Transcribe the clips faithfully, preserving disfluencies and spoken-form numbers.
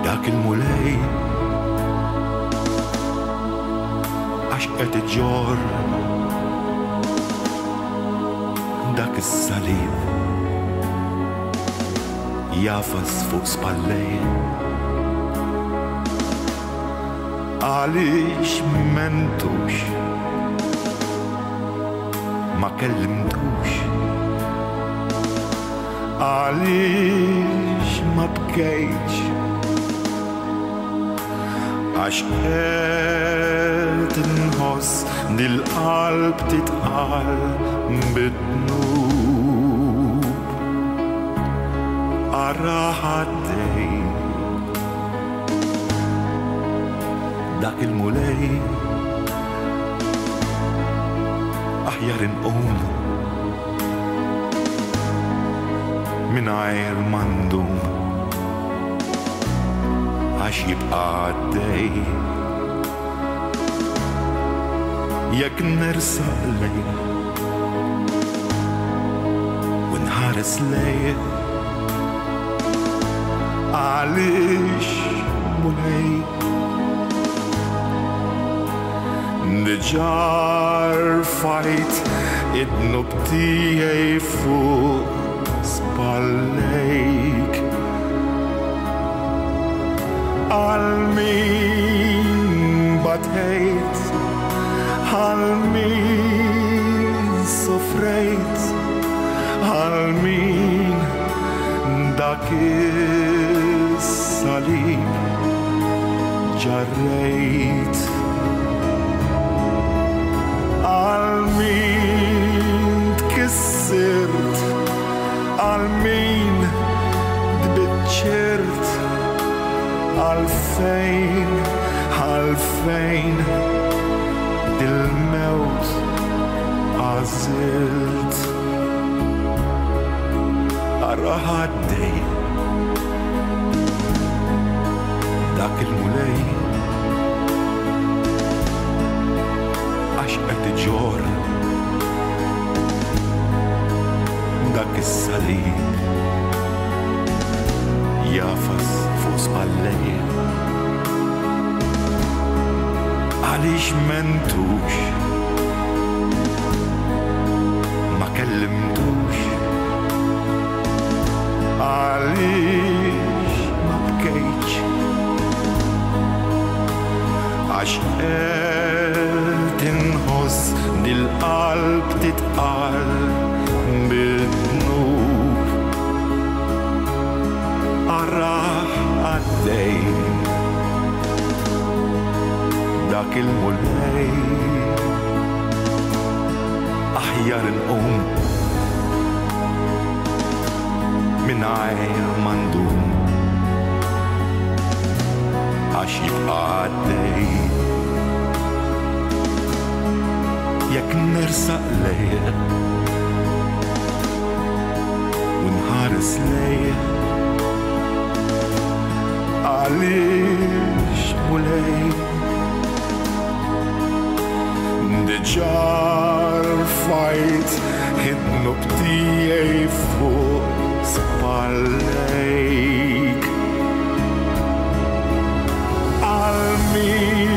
Dak il-Mulej għax qed iġorr dak is-salib jafas fuq spallej. Għaliex mentux, ma kellimtux, għaliex ma bkejtx, għax qed inħoss dil-qalb titqal bid-dnub. Ara ħaddej dak il-Mulej, aħjar inqum mingħajr ma ndum, għax jibqa' għaddej jekk nersaq lejh u nħares lejh. Għaliex Mulej diġà rfajt id-dnub tiegħi fuq spallejk. Għal min batejt, għal min sofrejt, għal min dak is-salib ġarrejt. Għal min tkissirt, għal min tbiċċirt, għalfejn, għalfejn dil-mewt għażilt. Ara ħaddej dak il-Mulej għax qed iġorr dak is-salib jafas fuq spallej. Għaliex mentux, ma kellimtux, għaliex ma bkejtx, għax qed inħoss dil-qalb titqal bid-dnub. Ara għaddej dak il-Mulej, aħjar inqum mingħajr ma ndum, għax jibqa' għaddej jekk nersaq lejh u nħares lejh. Għaliex Mulej diġà rfajt id-dnub tiegħi fuq spallejk. Għal min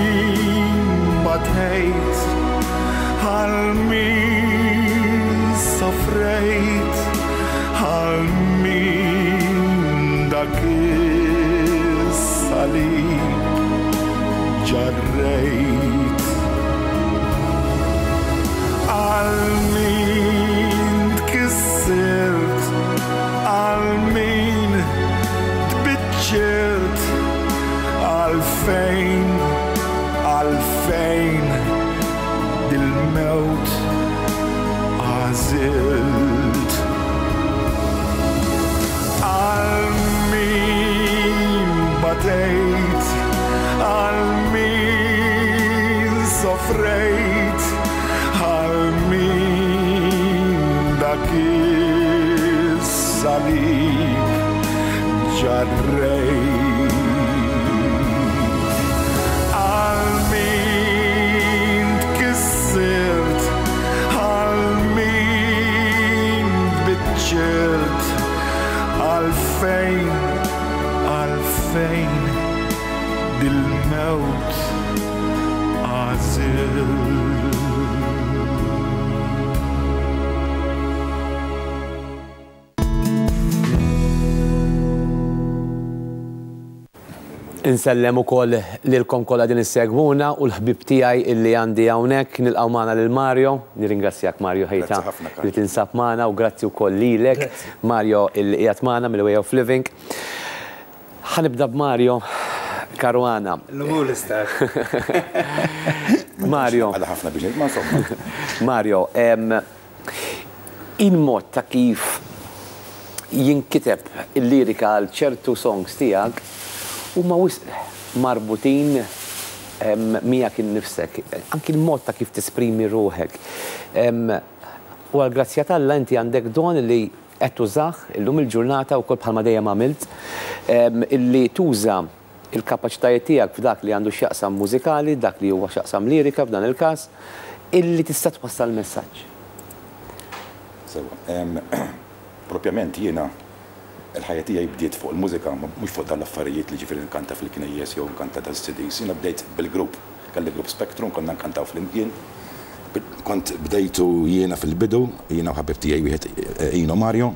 batejt, għal min sofrejt, għal min dak is-salib ġarrejt. Għal min tkissirt, għal min tbiċċirt, għalfejn, għalfejn dil-mewt għażilt. Għal min batejt, għal min sofrejt, għal min dak is-salib ġarrejt. Għal min tkissirt, għal min tbiċċirt, għalfejn, għalfejn Dil-mewt għażilt. Insellem ukoll lilkom kollha din issegwuna u l-ħbib tiegħi illi għandi hawnhekk. Nilqgħu magħna lil Mario. Nirringrazzjak, Mario ħejta, li tinsab magħna, u grazzi wkoll lilek, Mario, illi qiegħed magħna mill-Way of Living. Ħa nibda b'Mario Caruana. L-umur l-istar. Mario. Għala ħafna biex ma insomma. Mario, il-mod ta' kif jinkiteb il-lirika għal ċertu songs tiegħek huma wisq marbutin miegħek innifsek, anki l-mod ta' kif tesprimi ruħek. U għal-grazzja t'Alla inti għandek don li qed tużah illum il-ġurnata wkoll bħalma dejjem għamilt, illi tuża il-kapaċitajiet tiegħek f'dak li għandu x'jaqsam mużikali, dak li huwa x'jaqsam lirika f'dan il-każ, illi tista' twassal messaġġ. Sewa, propjament jiena il-ħajja tiegħi bdiet fuq il-mużika, mhux fuq dal-affarijiet li ġifieri nkanta fil-knejjes jew nkanta tal-C Ds. Jiena bdejt bil-grupp, kelli grupp Spectrum, konna nkantaw flimkien. Kont bdejtu jiena fil-bidu, jiena u ħabib tiegħi wieħed, Ino Mario,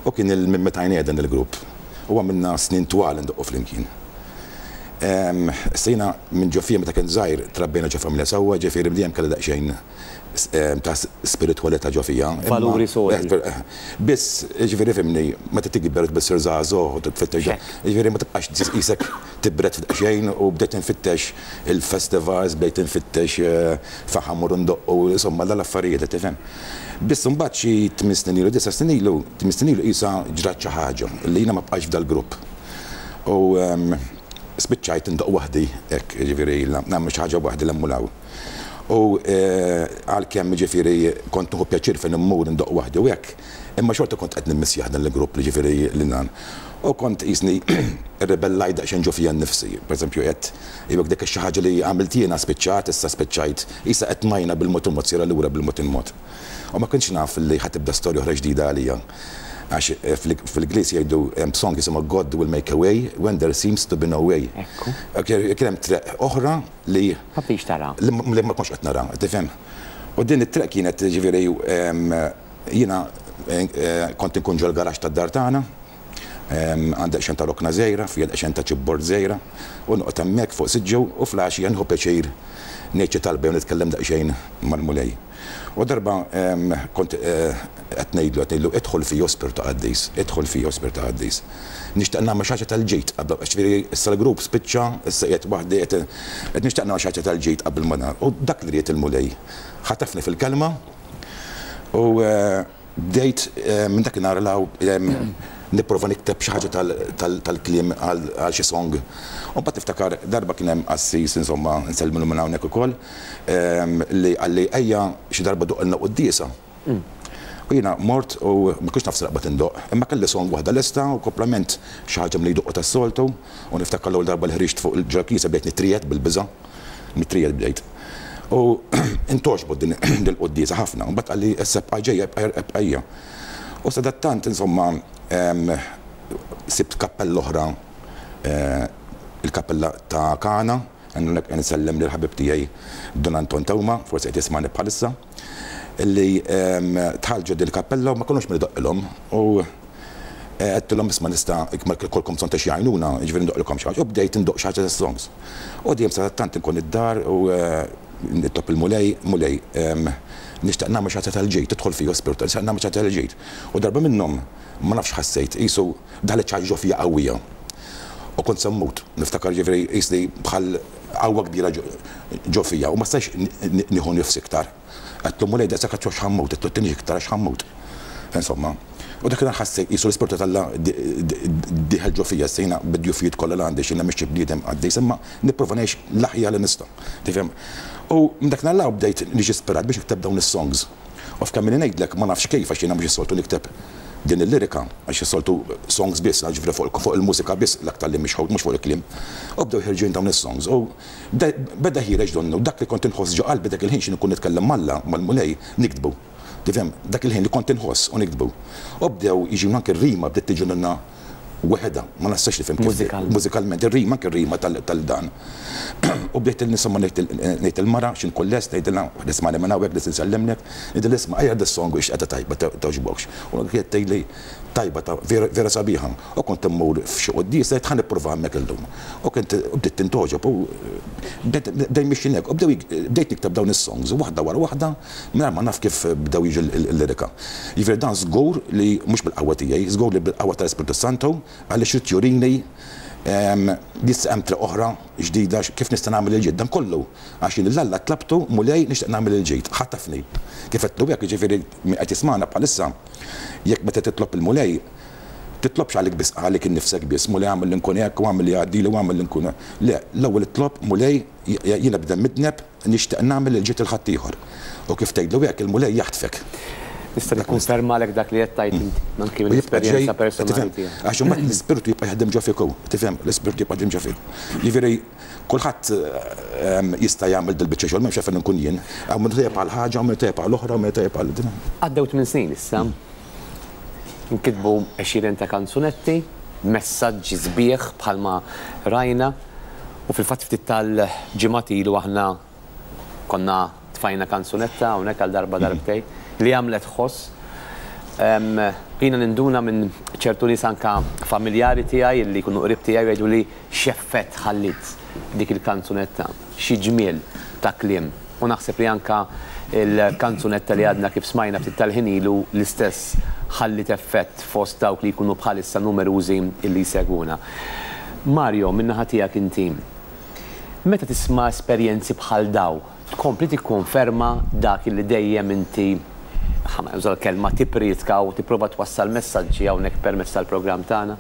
u kien il-minn meta dan il-grupp. U għamilna snin twal ndoqqu flimkien. Sejna minn ġo fija meta kien żgħir, trabbejna ġo familja sewwa, ġifieri dejjem kelli daqsxejn ta' spiritualità ġo fija. Valuri sodi. Biss, ġifieri fimni, meta tikber bissir żagħżugħ u tfittex, ġifieri ma tibqax qisek tibret f'daqsxejn, u bdejt nfittex il-festivals, bdejt nfittex fejn ħa mmur ndoqqu, insomma dal-affarijiet, tifhem. Biss imbagħad xi tmien snin ilu, disa' snin ilu, tmien snin ilu qisha ġrat xi ħaġa li jiena ma bqax f'dal-grupp. U spiċċajt indoq waħdi, hekk ġifieri nagħmel xi ħaġa waħdi l-emmulaw. U għalkemm ġifieri kont nieħu pjaċir fejn immur indoq waħdi u hekk, imma xorta kont qed nimmissjah dan il-grupp li ġifieri li nan. U kont qisni rrebellajt daqsxejn ġo fija nnifsi. Pereżempju qed jibek dik xi ħaġa li għamilt jiena spiċċat, issa spiċċajt, issa qed majna bil-mod il-mod sira lura bil-mod il-mod. U ma kontx naf li ħa tibda storja oħra ġdida għalija. Għax fil-Ingliż jgħidu hemm song jisimha "God will make a way when there seems to be no way". Kien hemm treq oħra li Ma biex tara. Li ma kontx qed nara, tifhem. U din it-treq kienet ġifieri jiena kont inkun ġol garaxx tad-dar tagħna, għandek xejn ta' rokna żgħira, fija xejn ta' chipboard żgħira, u noqgħod hemmhekk fuq siġġu u filgħaxija nieħu pjaċir ngħid xi talba jew nitkellem daqsxejn mal-Mulej. U darba kont qed ngħidlu qed ngħidlu "Idħol fija, Spirtu Qaddis, idħol fija, Spirtu Qaddis. Nixtieq nagħmel xi ħaġa tal-ġid, ġifieri issa l-grupp spiċċa, issa qiegħed waħdi, qed nixtieq nagħmel xi ħaġa tal-ġid qabel ma nar." U dak li ried il-Mulej. Ħatafni fil-kelma u bdejt minn dakinhar law nipprova nikteb xi ħaġa tal-kliem għal xi song. U mbagħad tiftakar darba kien hemm qassis, insomma, nsellmilu minn hawnhekk ukoll, li qalli, "Ejja xi darba doqqilna quddiesa." U jiena mort u ma kontx naf naqbad indoq, imma kelli song waħda lesta u komplement xi ħaġa milli jdoqqu tas-soltu, u niftakar l-ewwel darba li ħriġt fuq il-ġol-knisja bdejt nitriegħed bil-biża', nitriegħed bdejt. U intgħoġbot din il-quddiesa ħafna, u mbagħad qalli, "Issa ibqa' ġejja, ibqa' ejja." U sadattant, insomma, sibt kappella oħra, il-kappella ta' Kana, nsellem lil ħabib tiegħi Don Anton Tawma, forsi qed jismani bħalissa, illi dħalt ġo dil-kappella u ma konux min idoqqilhom u għedtilhom, "Isma', nista' jkollkom bżonn ta' xi għajnuna, ġifieri ndoqqilkom xi ħaġa?" U bdejt indoq xi ħaġa songs. U dejjem sadattant inkun id-dar u nitlob il-Mulej, "Mulej, nixtieq nagħmel xi ħaġa tal-ġid, tidħol fija Spirtu, nixtieq nagħmel xi ħaġa tal-ġid." U darba minnhom ma nafx ħassejt, qisu daħlet xi ħaġa ġo fija qawwija. U kont se mmut, niftakar ġifieri qisni bħal qawwa kbira ġo fija u ma stajx nieħu nifs iktar. Għedtlu, "Mulej, daqshekk għax ħa mmut," għedtlu, "tinix iktar għax ħa mmut." Insomma, u dak ħassejt qisu l-Ispirtu t'Alla dieħel ġo fija, sejna bid-djufijiet kollha li għandi, x'jiena mhix bniedem qaddis, imma nipprova ngħix l-aħjar li nista'. Tifhem? U minn dak nhar bdejt niġi ispirat biex nikteb dawn is-songs. U f'kemm ngħidlek ma nafx kif, għax jiena mhux is-soltu nikteb din il-lirika, għax is-soltu songs biss, ġifieri fuq il-mużika biss l-aktar li mhux mhux fuq il-kliem. U bdew ħerġin dawn is-songs. U beda ħiereġ donnu dak li kont inħoss ġo qalbi dak il-ħin xi nkun nitkellem m'Alla, mal-Mulej, niktbu. Tifhem, dak il-ħin li kont inħoss u niktbu. U bdew jiġu anke r-rima bdiet tiġi lilna Weħeda, ma nistax nifhem kif. Mużikalment. Mużikalment, ir-rima, anke ir-rima tal-dan. U bdejt nisma' ngħid il-mara x'in kull lest, ngħidilha, nisma' minn hawnhekk li nsellimlek, ngħidilha, "Isma', ejja, dis-song ix qiegħda tajba, togħġbokx?" U kienet tgħidli, "Tajba, ta' vera sabiħa." U kont immur f'xi quddies, ngħid, "Ħa nipprova hemmhekk illum." U kont bdiet tintogħġob u bdejt mixin hekk. U bdejt nikteb dawn is-songs, waħda wara waħda, mingħajr ma naf kif bdew jiġu l-lirika. Jiġifieri dan żgur li mhux bil-qawwa tiegħi, żgur li bil-qawwa tal-Ispirtu Santu, għaliex irid jurini jista' hemm triq oħra ġdida kif nista' nagħmel il-ġid. Dan kollu għax jien 'l Alla tlabtu, "Mulej, nixtieq nagħmel il-ġid, ħatafni." Kif qed hekk, jiġifieri qed jismagħna bħalissa, jekk meta titlob il-Mulej, titlobx għalik biss, għalik innifsek biss, "Mulej, għamel li nkun hekk u għamel li għaddili u għamel li nkun." Le, l-ewwel itlob, "Mulej, jiena bniedem midneb, nixtieq nagħmel il-ġid 'il ħaddieħor." U kif tgħidlu hekk, il-Mulej jaħtfek. Nista' nikkonfermalek dak li qed tgħid inti, anki mill-esperjenza personali tiegħek. Għax imbagħad l-ispirtu jibqa' jaħdem ġo fiku, tifhem, l-ispirtu jibqa' jaħdem ġo fiku. Jiġifieri kulħadd ehm, jista' jagħmel dil-biċċa xogħol, m'hemmx għalfejn nkun jien. Hawn min tajjeb għal ħaġa, hawn min tajjeb għal oħra, hawn min tajjeb għal din. Għaddew tmien snin issa. Nkitbu għexieren ta' kanzunetti, messaġġi sbieħ bħalma rajna, u fil-fatt ftit tal-ġimgħat ilu aħna konna tfajna kanzunetta hawnhekk għal darba darbtej li għamlet ħoss. Jiena ninduna minn ċertu nies, anka familjari tiegħi li jkunu qrib tiegħi, jgħidu li x'effett ħallit dik il-kanzunetta, xi ġmiel ta' kliem. U naħseb li anka il-kanzunetta li għadna kif smajna ftit tal-ħin ilu l-istess ħallit effett fost dawk li jkunu bħalissa numerużi illi jsegwuna. Mario, min-naħa tiegħek inti, meta tisma' esperjenzi bħal daw, tkompli tikkonferma dak li dejjem inti, ħa nuża l-kelma, tippriedka u tipprova twassal messaġġi hawnhekk permezz tal-programm tagħna?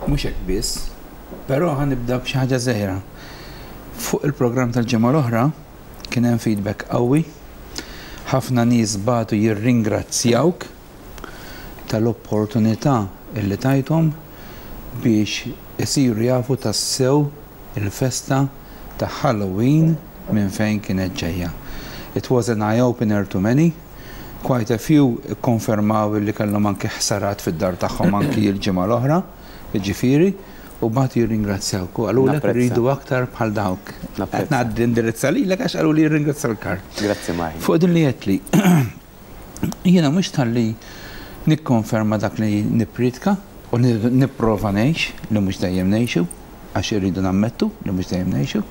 Mhux hekk biss, però ħa nibda b'xi ħaġa żgħira. Fuq il-programm tal-ġimgħa l-oħra kien hemm feedback qawwi. Ħafna nies bagħtu jirringrazzjawk tal-opportunità illi tajthom biex isiru jafu tassew il-festa ta' Halloween minn fejn kienet ġejja. It was an eye-opener to many. Quite a few konfermaw li kellhom anki ħsarat fid-dar tagħhom anki l-ġimgħa l-oħra, jiġifieri, u bagħtu jirringrazzjawk. U qalulek Napprezza. Rridu aktar bħal dawk. Napprezza. Qed ngħaddi indirizza lilek għax qalu li jirringrazzja l-kar. Grazzi, Mahi. Fuq din li għedtli, jiena mhux talli nikkonferma dak li nippriedka u ni- nipprova ngħix, li mhux dejjem ngħixu, għax irridu nammettu li mhux dejjem ngħixu.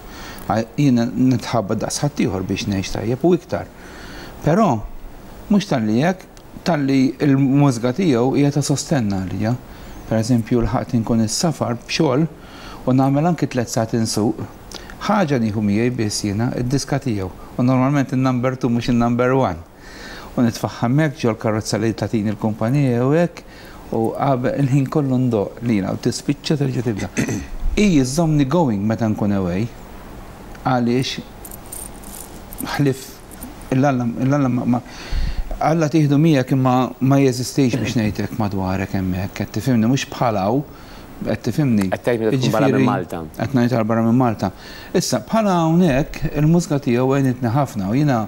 Għaj- Jiena nitħabba daqs ħaddieħor biex ngħix tajjeb u iktar. Però mhux talli hekk, talli il-mużika tiegħu hija ta' sostenna għalija. Per eżempju, l-ħadd inkun is-safar b'xogħol u nagħmel anki tliet sigħat insuq. Ħaġa nieħu miegħi biss jiena, id-diska tiegħu. U normalment il-number two, mhux il-number one. U nitfaħħa hemmhekk ġol karozza li tatini l-kumpanija u hekk, u qabel il-ħin kollu ndoqq lila u tispiċċa terġa' tibda. I żżommni going meta nkun away, għaliex ħlif il-Alla il-Alla ma- ma Alla tieħdu miegħek imma ma jeżistix biex ngħidlek madwarek hemmhekk, qed tifhimni, mhux bħalaw, qed tifhimni. Qed tgħid meta tkun barra minn Jiġifieri, Malta. Qed ngħid barra minn Malta. Issa bħala hawnhekk il-mużika tiegħu għenitni ħafna u jiena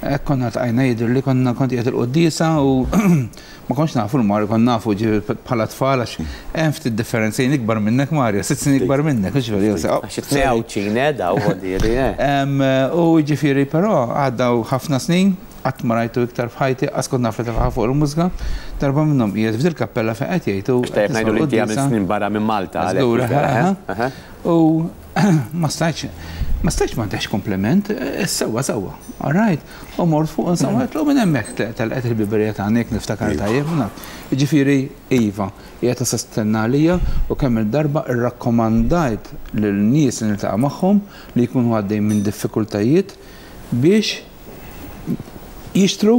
hekk konna tqajna, jidher li konna kont qiegħed il-quddiesa u ma kontx nafu l-Mario, konna nafu ġi bħala tfal għax hemm ftit differenzi, jien ikbar minnek, Mario, sitt snin ikbar minnek, hux veru, jew se- Għax it-tnejn Għawdxin, eh, daw, ħodiri, eh. Em, U ġifieri, però għaddaw ħafna snin, qatt ma rajtu iktar f'ħajti, qas kont naf li tefaħ fuq il-mużika, darba minnhom qiegħed f'dil kappella fejn qed jgħidu. Tajjeb ngħidu li inti għamil snin barra minn Malta, għalhekk, Żgur, mhux vera, aha. eh? Aha. U ma stajtx, ma stajtx ma ntex kompliment, eh, sewwa sewwa, all right. U mort fuq, insomma, għedtlu minn hemmhekk telqet il-biberija ta' għandek niftakar tajjeb. U naf. Ġifieri, iva, hija ta' sostenna għalija u kemm il-darba irrakkomandajt lil nies li niltaqa' magħhom li jkunu għaddej minn diffikultajiet biex jixtru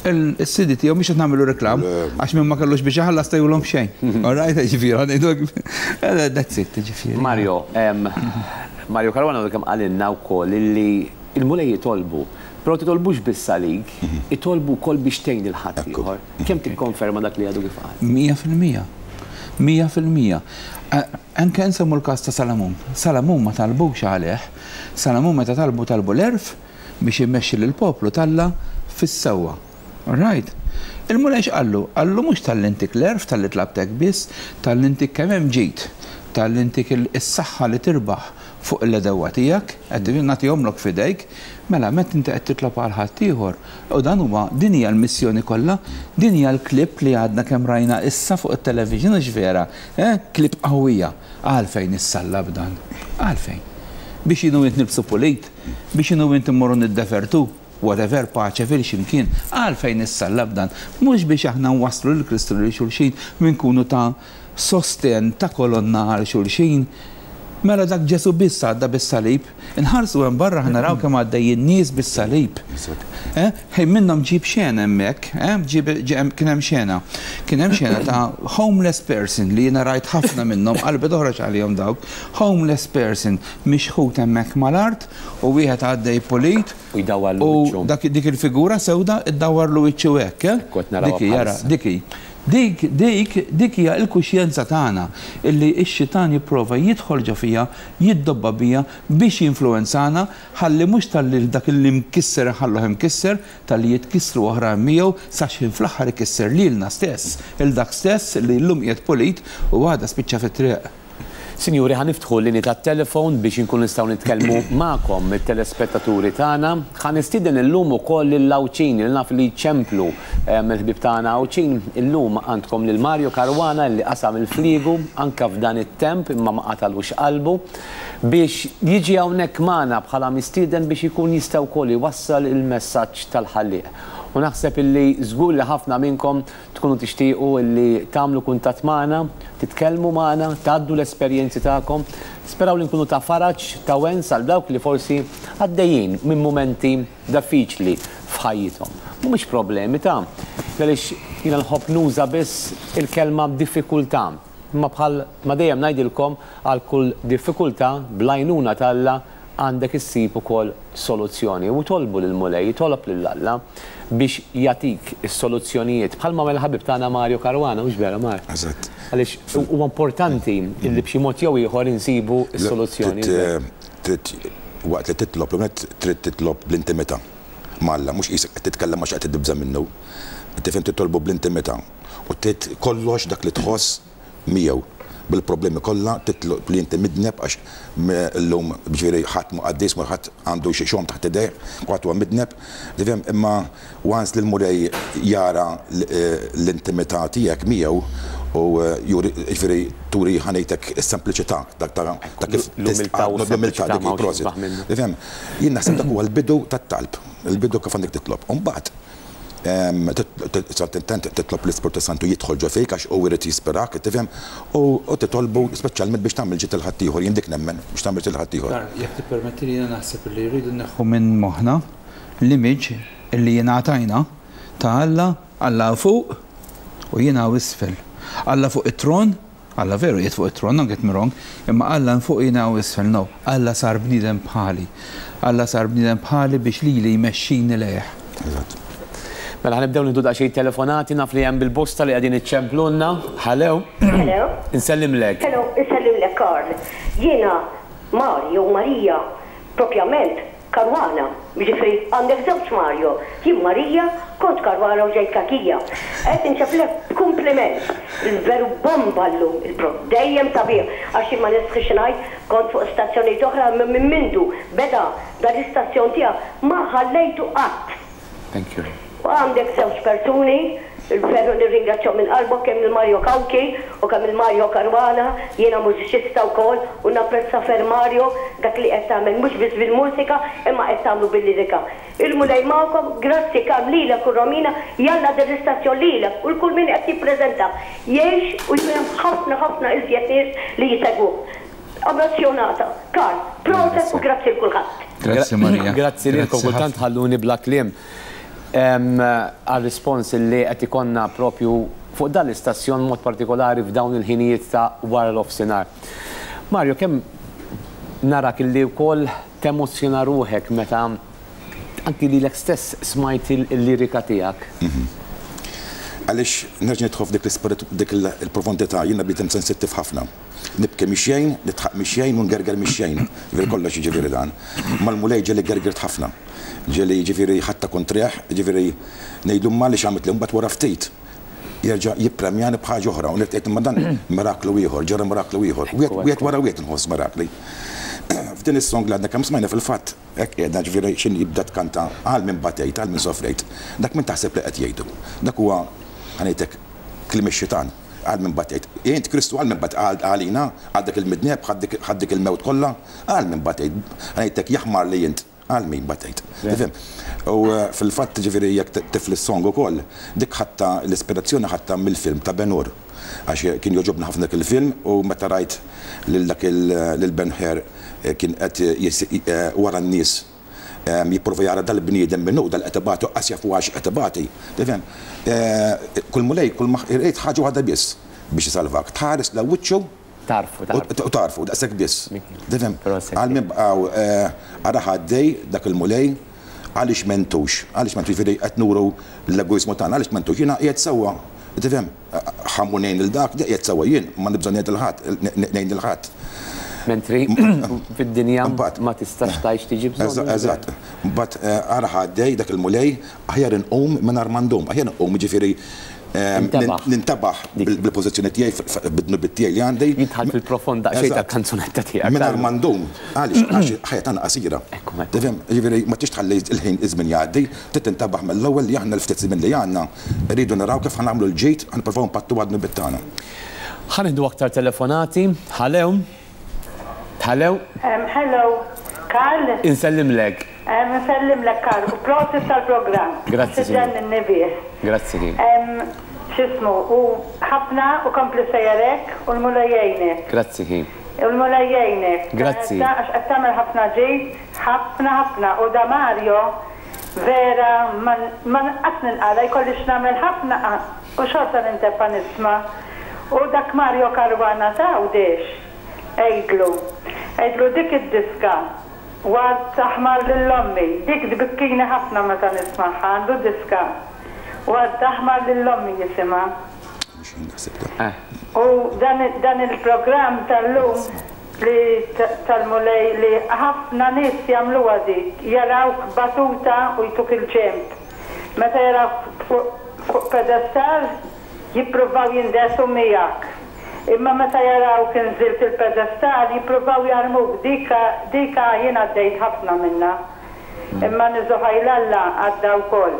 il-C D tiegħu. Mhux qed nagħmlu reklam għax minn ma kellux biex iħallas tajulhom xejn. All right, ġifieri, ħa ngħidu that's it, ġifieri. Mario, em, Mario Caruana kemm qalilna wkoll illi il-Mulej jitolbu, però titolbux biss għalik, itolbu wkoll biex tgħin lil ħadd Ekku. ieħor. Kemm tikkonferma dak li għadu kif qal? Mija fil-mija. Mija fil-mija. Eh, Anke nsemmu l-kas ta' Salamun. Salamun ma talbux għalih. Salamun meta talbu, talbu l-għerf biex immexxi lill-poplu t'Alla fis-sewwa. All right. Il-Mulej x'qallu? Qallu mhux talli ntik l-għerf talli tlabtek biss, talli ntik kemm hemm ġid, talli ntik is-saħħa li tirbaħ fuq l-għedewwa tiegħek, qed nagħtihomlok f'idejk, mela meta inti qed titlob għal ħaddieħor. U dan huwa din hija l-missjoni kollha, din hija l-klip li għadna kemm rajna issa fuq it-television hux vera, eh? Klip qawwija. Għalfejn issallab dan? Għalfejn? Biex jien u int nilbsu pulit, biex jien u int immorru niddevertu, whatever, paċe fil ximkien, għalfejn issallab dan? Mhux biex aħna nwasslu lil Kristu lil xulxin minn kunu ta' sosten ta' kolonna għal xulxin. Mela dak Ġesu biss għadda bis-salib, inħarsu hemm barra ħa naraw kemm għaddejjin nies bis-salib. Eh, Ħin minnhom ġib xena hemmhekk, eh, ġib ġi- kien hemm xena. Kien hemm xena ta' homeless person li jiena rajt ħafna minnhom, qalbi toħroġ għalihom dawk. Homeless person mixħut hemmhekk mal-art u wieħed għaddej pulit U jdawwarlu u wiċċu. dak dik il-figura sewda iddawwarlu wiċċu hekk, eh? Kont narawha Dik hi, jara, bħalissa. dik hi. Dik, dik, dik hija l-kuxjenza tagħna illi x-xitan jipprova jidħol ġo fija, jiddobba bija biex jinfluwenzana ħalli mhux talli dak li mkisser ħalluh imkisser, talli jitkissru oħra miegħu sax fl-aħħar ikisser lilna stess, il dak stess li llum qiegħed pulit u għada spiċċa fit-triq. Sinjuri, ħa niftħu l-linji tat-telefon biex inkun nistgħu nitkellmu magħkom it-telespettaturi tagħna. Ħa nistieden illum ukoll lill-Għawdxin li naf li ċemplu mill-ħbieb tagħna Għawdxin. Illum għandkom lil Mario Caruana li qasam il-fliegu anke f'dan it-temp imma ma qatalux qalbu biex jiġi hawnhekk magħna bħala mistieden biex ikun jista' wkoll iwassal il-messaġġ tal-Ħallieq. U naħseb illi żgur li ħafna minnkom tkunu tixtiequ illi tagħmlu kuntatt magħna, titkellmu magħna, tgħaddu l-esperjenzi tagħkom. Speraw li nkunu ta' faraġ, ta' wens għal dawk li forsi għaddejjin minn mumenti diffiċli f'ħajjithom. Mhumiex problemi ta' għaliex jiena nħobb nuża biss il-kelma diffikultà. Imma bħal ma dejjem ngħidilkom, għal kull diffikultà bl-għajnuna t'Alla għandek issib ukoll soluzzjoni. U tolbu lill-Mulej, tolob lil Alla biex jagħtik is-soluzzjonijiet. Bħalma għamel ħabib tagħna Mario Caruana, mhux vera Mar? Eżatt. Għaliex huwa importanti li b'xi mod jew ieħor insibu s-soluzzjoni. Trid waqt li titlob, trid titlob bl-intimità m'Alla, mhux qisek qed titkellem għax qed tibża' minnu. Tifhem, titolbu bl-intimità u trid kollox dak li tħoss miegħu bil-problemi kollha, titlob li inti midneb, għax llum ġifieri ħadd mu qaddis, ma ħadd għandu xi xogħol taħt idejh, kulħadd huwa midneb. Tifhem, imma once li l-Mulej jara l-intimità tiegħek miegħu u juri, ġifieri turi ħanejtek is-sempliċità dak ta' kif l-umiltà u l-umiltà dik il-prosit. Tifhem, jien naħseb dak huwa l-bidu tat-talb, il-bidu kif għandek titlob. U mbagħad titlob l-Ispirtu Santu jidħol ġo fik għax u jrid jispirak, tifhem, u titolbu speċjalment biex tagħmel ġid il-ħaddieħor, jien dik nemmen biex tagħmel ġid il-ħaddieħor. Jekk tippermetti li jiena naħseb li jridu neħħu minn moħħna l-image illi jingħatajna ta' Alla, Alla fuq u jiena isfel. Alla fuq it-tron, Alla veru jiet fuq it-tron, don't get me wrong, imma Alla fuq jiena u isfel, no. Alla sar bniedem bħali. Alla sar bniedem bħali biex lili jmexxini lejh. Eżatt. Mela ħa nibdew nieħdu daqsxejn telefonati, naf li hemm bil-bosta li qegħdin iċċemplunna. Hello. Hello. Insellimlek. Hello, insellimlek Karl. Jiena Mario Maria, propjament Caruana. Ġifieri għandek żewġ Mario. Jien Maria, kont Caruana u ġejt Kakija. Qed inċemplek kompliment. Il-veru bomba llum, il-pro. Dejjem sabiħ, għax ma nistħix ngħid, kont fuq stazzjoni oħra minn mindu beda dan l-istazzjon tiegħek ma ħallejtu qatt. Thank you. U għandek żewġ persuni, il-veru nirringrazzjahom minn qalbi, kemm il-Mario Cauchi u kemm il-Mario Caruana, jiena mużiċista wkoll u napprezza ferm Mario dak li qed tagħmel mhux biss bil-mużika imma qed tagħmlu bil-lirika. Il-Mulej magħkom, grazzi Karl lilek u Romina, jalla din l-istazzjon lilek u l-kull min qed jippreżenta. Jgħix u jkun hemm ħafna ħafna iżjed nies li jisegwuh. Emozjonata. Karl, proset u grazzi l kulħadd. Grazzi Maria. Grazzi lilkom, kultant ħafna. ħalluni bla kliem. Għal-rispons li qed ikonna propju fuq dan l-istazzjon mod partikolari f'dawn il-ħinijiet ta' wara l-offsinar. Mario, kemm narak illi wkoll temozzjona ruħek meta anki lilek stess smajt il-lirika tiegħek? Għaliex nerġa' nidħol f'dik l-ispirit, dik il-profondità, jiena bniedem sensittiv ħafna. Nibki mix-xejn, nidħaq mix-xejn u ngerger mix-xejn. Ġifieri kollox jiġifieri dan. Mal-Mulej ġieli gergirt ħafna. Ġieli jiġifieri ħatta kontrih, jiġifieri ngħidlu ma li x'għamilt li mbagħad wara ftit jerġa' jippremjani b'ħaġa oħra u nirtqiet imma dan miraklu ieħor, ġara miraklu ieħor. Wieħed wara wieħed inħoss mirakli. F'din is-song li għadna kemm smajna fil-fatt, hekk qiegħda ġifieri x'in jibda tkanta għal min batejt, għal min sofrejt. Dak min taħseb li qed jgħidu. Dak huwa ħanejtek kliem ix-xitan. Għal min batejt. Int Kristu għal min bat għalina, għal dak il-midneb, ħad dik il-mewt kollha, għal min batejt. Ħanejtek jaħmar li int għal min batejt. Tifhem? U fil-fatt ġifieri jekk tifli s-song ukoll, dik ħatta l-ispirazzjoni ħatta mill-film ta' Ben Hur. Għax kien jogħġobna ħafna dak il-film u meta rajt lil dak lil Ben Hur kien qed wara n-nies jipprova jara dal-bniedem minnu dal-qed ibati qas jafu għax qed ibati. Tifhem? Kull Mulej kull ma irid ħaġa waħda biss biex isalvak. Tħares la wiċċu Tarfu, tarfu. U tarfu, daqshekk biss. Tifhem? Għal min bqgħu ara ħaddej dak il-Mulej għaliex mentux, għaliex mentux, jiġifieri qed nuru l-egoiżmu tagħna, għaliex mentux, jiena qiegħed sewwa. Tifhem? Ħammu ngħin lil dak, qiegħed sewwa jien, ma nibża' ngħid lil ħadd, ngħin lil ħadd. Mentri fid-dinja ma tistax tgħix tiġi bżonn. Eżatt. Mbagħad ara ħaddej dak il-Mulej aħjar inqum mingħajr ma ndum, aħjar inqum jiġifieri nintabaħ bil-pożizzjoni tiegħi bid-dnubiet tiegħi li għandi. Jidħal fil-profond daqsxejn tal-kanzunetta tiegħek. Mingħajr ma ndum, għaliex għax ħajja tagħna qasira. Tifhem, jiġifieri ma tix tħalli l-ħin iż-żmien jgħaddi, trid tintabaħ mill-ewwel li aħna l-ftit żmien li għandna rridu naraw kif ħanagħmlu l-ġid ħa nippruvaw npattu għad-dnubiet tagħna. Ħa nieħdu aktar telefonati. Ħalew. Ħalew. Hello, Karl. Insellimlek. Nsellimlek Karl, u prosit tal-programm. Grazzi. Ġenninni bih. Grazzi. X'ismu, u ħafna u kompli sejjerek u l-Mulej jgħinek. Grazzi ħin. U l-Mulej jgħinek. Grazzi. Għax qed tagħmel ħafna ġid, ħafna ħafna u da Mario vera ma qatt ninqala jkolli x'nagħmel ħafna u xorta nintefa' nisma'. U dak Mario Caruana ta' Għawdex. Għidlu, għidlu dik id-diska. Ward aħmar lill-ommi, dik tbikkini ħafna meta nismagħha, għandu diska. Ward aħmar lill-ommi jisimha. U dan il-programm tal-lum li tal-Mulej li ħafna nies jagħmluha dik, jarawk batuta u jtuk il-ġemp. Meta jarawk fuq pedestal jippruvaw jindesu miegħek. Imma meta jarawk inżilt il-pedestal jippruvaw jarmuk, dika dika jien għaddejt ħafna minna. Imma niżuħaj l-Alla għadda wkoll.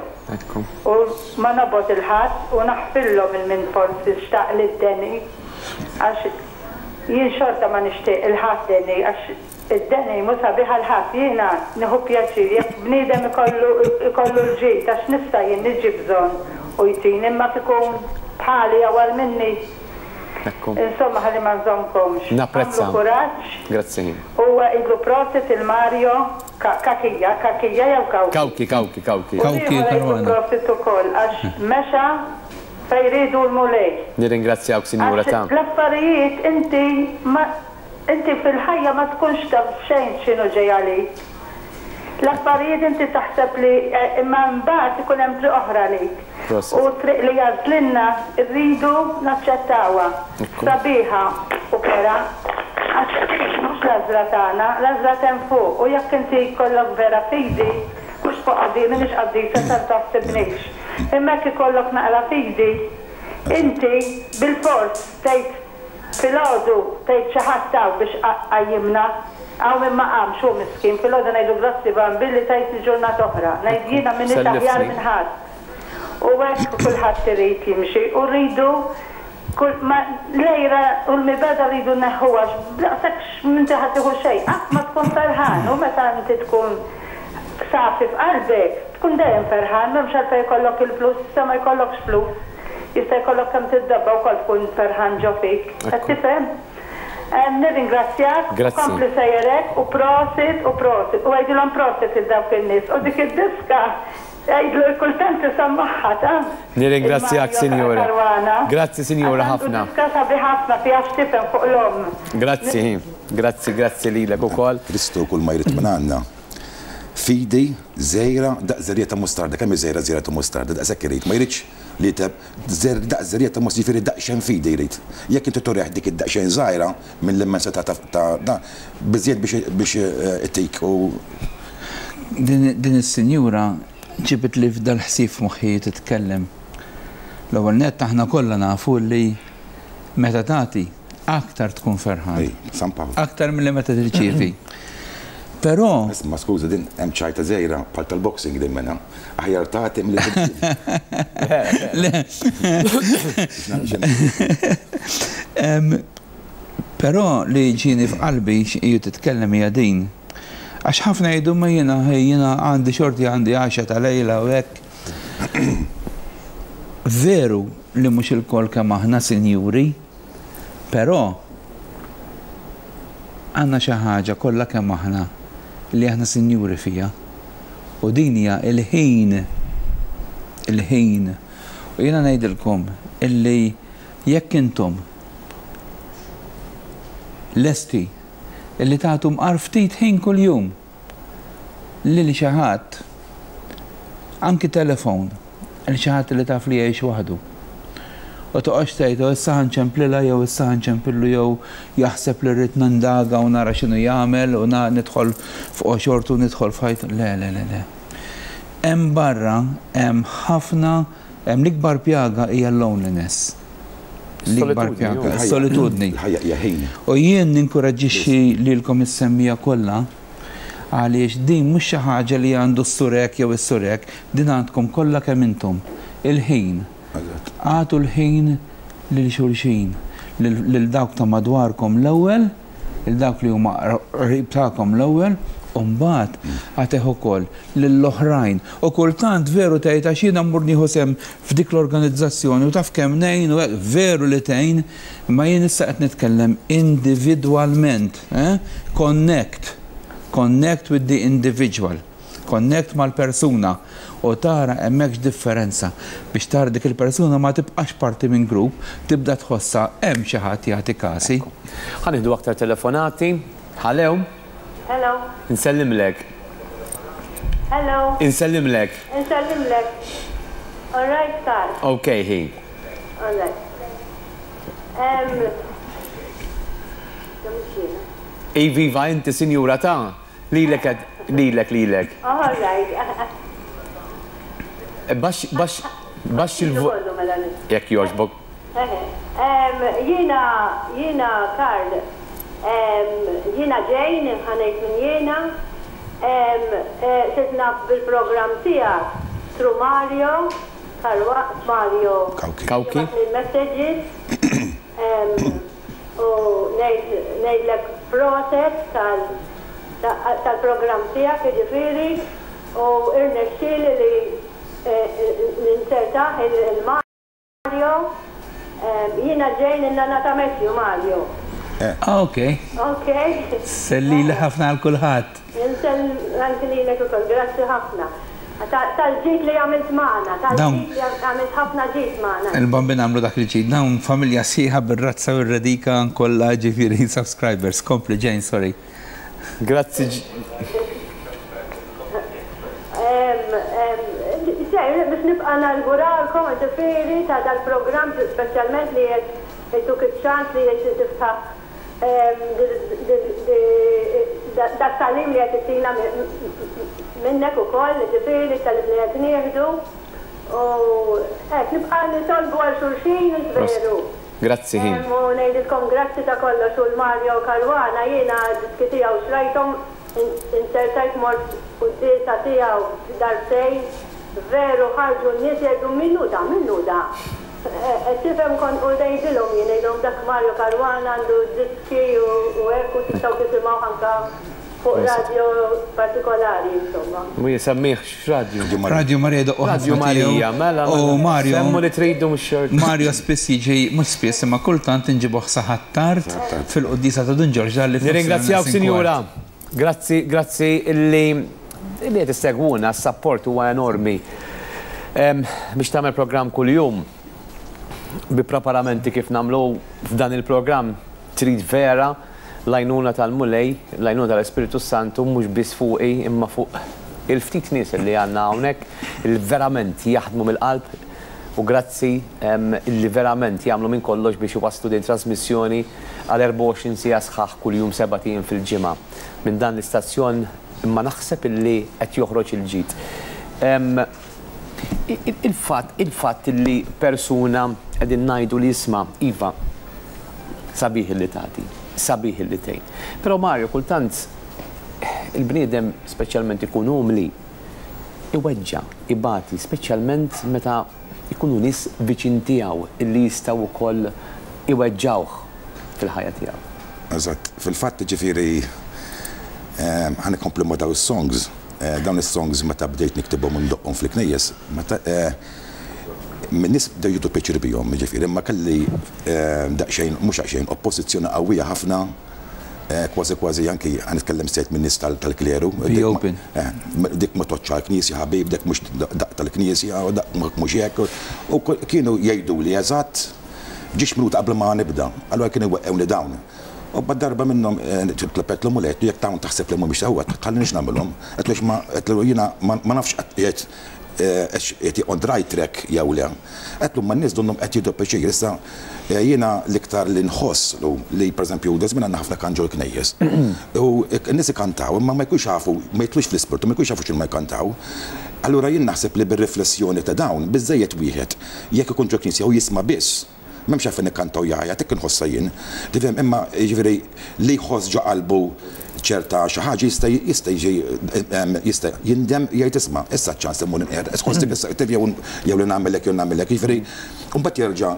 U ma nobgħod il-ħadd u naħfillhom il-min forsi xtaq li d-deni għax jien xorta ma nixtieq il-ħadd deni għax id-deni mhu sabiħ għal ħadd, jiena nieħu pjaċir jekk bniedem ikollu ikollu l-ġid għax nista' jien niġi bżonn u jtini imma kikun bħali jew għal minni. Insomma, ħalli ma nżommkomx. Napprezza. Għamlu kuraġġ. Grazzi. U idlu prosit il-Mario Kakija, Kakija jew Kawki? Kawki, Kawki, Kawki. Kawki, Caruana. Prosit ukoll għax mexa fejn jridu l-Mulej. Nirringrazzjawk, Sinjura ta'. L-affarijiet inti ma inti fil-ħajja ma tkunx taf xejn x'inhu ġej għalik. L-affarijiet inti taħseb li imma mbagħad ikun hemm triq oħra għalik. U triq li jażlilna rridu naċċettawha. Sabiħa u kera. Għax mhux l-għażla tagħna, l-għażla t'hemm fuq. U jekk inti jkollok vera fidi, mhux fuq qaddi, m'iniex qaddisa tal taħsibnix. Imma jekk ikollok naqra fidi, inti bil-fors tgħid filgħodu tgħid xi ħadd hawn biex qajjimna. Hawn min ma qamx hu miskin, filgħodu ngħidu grazzi Bambilli tajtni ġurnata oħra. Ngħid jiena m'iniex aħjar minn ħadd. U hekk kulħadd irid jimxi u rridu kull ma l-għira u l-mibeda rridu nneħħuha għax b'daqshekk m'inti ħadd tieħu xejn, qatt ma tkun ferħan u meta inti tkun safi f'qalbek tkun dejjem ferħan, m'hemmx għalfejn jkollok il-flus, issa ma jkollokx flus, jista' jkollok kemm tiddabba wkoll tkun ferħan ġo fik. Qed tifhem? Nirringrazzjak, kompli sejjerek u prosit u prosit u għidilhom prosit il dawk in-nies u dik id-diska għidlu kultant isemmaħħa ta'. Nirringrazzjak, Sinjura. Grazzi, Sinjura, ħafna. Diska sabiħ ħafna fiha x'tifhem fuq l-omm. Grazzi, grazzi, grazzi lilek ukoll. Kristu kull ma jrid minn għandna. Fidi żgħira daqs żerriegħa ta' mustarda, kemm hi żgħira żerriegħa ta' mustarda, daqshekk irid, ma jridx Li teb daq żerriegħa ta' mos jiġifieri daqsxejn fidi jrid. Jekk inti turih dik id-daqsxejn żgħira mill-immensità ta' da biżżejjed biex ittik u Din is-sinjura ġibit li f'dal ħsieb moħħi titkellem. L-ewwel nett aħna kollha nafu li meta tagħti aktar tkun ferħan. San Pawl. Aktar milli meta tirċievi. Però Isma' skuża, din hemm ċajta żgħira bħal tal-boxing din mena. Aħjar tagħti milli tirċievi. Però li ġieni f'qalbi x'qiju titkellem hija din. Għax ħafna jgħidu ma jiena jiena għandi xorti għandi għaxa ta' lejla u hekk. Veru li mhux ilkoll kemm aħna sinjuri, però għandna xi ħaġa kollha kemm aħna li aħna sinjuri fija. U din hija il-ħin. Il-ħin. U jiena ngħidilkom illi jekk intom lesti illi tagħtu mqar ftit ħin kuljum lil xi ħadd, anki telefon, lil xi ħadd li taf li jgħix waħdu. U toqgħodx tgħid issa ħanċemplilha jew issa ħanċempillu jew jaħseb li rrid nindaga u nara x'inhu jagħmel u nidħol fuq xortu nidħol f'ħajt. Le, le, le, le. Hemm barra hemm ħafna, hemm l-ikbar pjaga hija loneliness. L-ikbar pjaga, solitudni. U jien ninkoraġġixxi lilkom is-semmija kollha għaliex din mhux xi ħaġa li għandu s-surek jew is-surek, din għandkom kollha kemm intom. Il-ħin. Agħtu l-ħin lil xulxin, lil dawk ta' madwarkom l-ewwel, lil dawk li huma qrib tagħkom l-ewwel, u mbagħad agħtih ukoll lill-oħrajn. U kultant veru tgħid għax jiena mmur nieħu sehem f'dik l-organizzazzjoni u taf kemm ngħin u hekk veru li tgħin, imma jien issa qed nitkellem individwalment, eh? Connect. Connect with the individual. Connect mal-persuna u tara hemmhekk differenza biex tara dik il-persuna ma tibqax parti minn grupp, tibda tħossha hemm xi ħadd jagħti kasi. Ħa nieħdu aktar telefonati. Hello. Hello. Insellimlek. Hello. Insellimlek. Insellimlek. All right, Karl. Okay, hi. All right. Um, Iviva, inti sinjura ta' lilek lilek lilek. All right. Baxx baxx baxx il-volume. Jekk jogħġbok. Jiena jiena Karl, jiena Jane, ħa ngħid minn jiena. Sirt naf bil-programm tiegħek through Mario, Karwa, Mario. Kawki. Messages. U ngħidlek proset tal-programm tiegħek, jiġifieri, u irnexxieli li ninsertaħ il-Mario. Jiena Jane in-nana ta' Matthew, Mario. Ok. Ok. Sellili ħafna għal kulħadd. Insell anki lilek ukoll, grazzi ħafna. Tal-ġid li għamilt magħna, tal-ġid li għamilt ħafna ġid magħna. Il-bambin għamlu dak il-ġid, dawn familja sħiħa bir-razza u r-radika kollha ġifieri subscribers. Kompli Jane, sorry. Grazzi. Biex nibqa' nawguralkom ġifieri ta' dal-programm speċjalment li qed ituk iċ-ċans li qed tiftaħ dat-tagħlim li qed ittina minnek ukoll, ġifieri t-tagħlim li qed nieħdu. U hekk nibqa' nitolbu għal xulxin veru. Grazzi ħin. U ngħidilkom grazzi ta' kollox u l-Mario Caruana jiena diski tiegħu xrajthom, insertajt mort quddiesa tiegħu darbtejn, veru ħarġu n-nies jgħidu minnu da, minnu da. Tifhem kont u ngħidilhom jien ngħidilhom dak Mario Caruana għandu diski u hekk u tistgħu tisimgħu anke fuq radio partikolari, insomma. Mu jisemmih x'radio? Radio Maria doqqu Radio Maria, mela. U Mario. Semmu li tridu mhux xort. Mario spiss jiġi, mhux spiss, imma kultant inġibuh sa Ħ'Attard fil-quddiesa ta' Dun Ġorġ li Nirringrazzjawk, Sinjura. Grazzi, grazzi illi illi qed issegwuna, s-sapport huwa enormi. Biex tagħmel programm kuljum bi preparamenti kif nagħmlu f'dan il-programm trid vera l-għajnuna tal-Mulej, l-għajnuna tal-Espiritu Santu, mhux biss fuqi imma fuq il-ftit nies li għandna hawnhekk li verament jaħdmu mill-qalb U grazzi illi verament jagħmlu minn kollox biex iwasslu din trasmissjoni għal erbgħa u għoxrin siegħa sħaħ kuljum, sebat ijiem fil-ġimgħa. Minn dan l-istazzjon imma naħseb illi qed joħroġ il-ġid. Il-fatt il-fatt illi persuna qegħdin ngħidu li jisma' iva, sabiħ illi tagħti, sabiħ illi tgħin. Però Mario, kultant il-bniedem speċjalment ikun umli, iweġġa, ibati, speċjalment meta ikunu nies viċin tiegħu illi jistgħu wkoll iweġġawh fil-ħajja tiegħu. Eżatt, fil-fatt, ġifieri ħa nkomplu ma' daw is-songs, dawn is-songs meta bdejt niktibhom u ndoqqhom fil-knejjes, meta min-nies bdew jieħdu pjaċir bihom, ġifieri, imma kelli daqsxejn, mhux daqsxejn, oppożizzjoni qawwija ħafna, kważi kważi anki ħa nitkellem straight minn nies tal-kleru. Be open. Dik ma toċċa l-knisja, ħabib, dik mhux daqq tal-knisja, u dak mhux hekk. U kienu jgħidu li eżatt ġiex minuta qabel ma nibda. Allura kienu weqqewni dawn. U bad darba minnhom tlabet l u jekk dawn taħseb li mhumiex sewwa, tħallinix nagħmilhom. Għedtlu ma għedtlu jiena ma nafx qed qed on the right track jew le. Għedtlu ma n-nies donnhom qed jieħdu pjaċir. Issa jiena l-iktar li nħoss li, pereżempju, da żmien għandna ħafna kant ġol-knejjes. U n-nies ikantaw imma ma jkunx jafu, ma jitilux fl-ispirtu, ma jkunx jafu x'inhu ma jkantaw. Allura jien naħseb li bir-riflessjoni ta' dawn biżejjed wieħed jekk ikun ġo knisja u jisma' biss. M'hemmx għalfejn ikkantaw jgħajja, dik inħossha jien. Tifhem, imma jiġifieri li jħoss ġo qalbu ċerta xi ħaġa jista' jista' jiġi jista' jindem, jgħid, "Isma', issa ċans immur inqer, issa issa jew jew li nagħmel hekk jew nagħmel hekk." Jiġifieri mbagħad jerġa'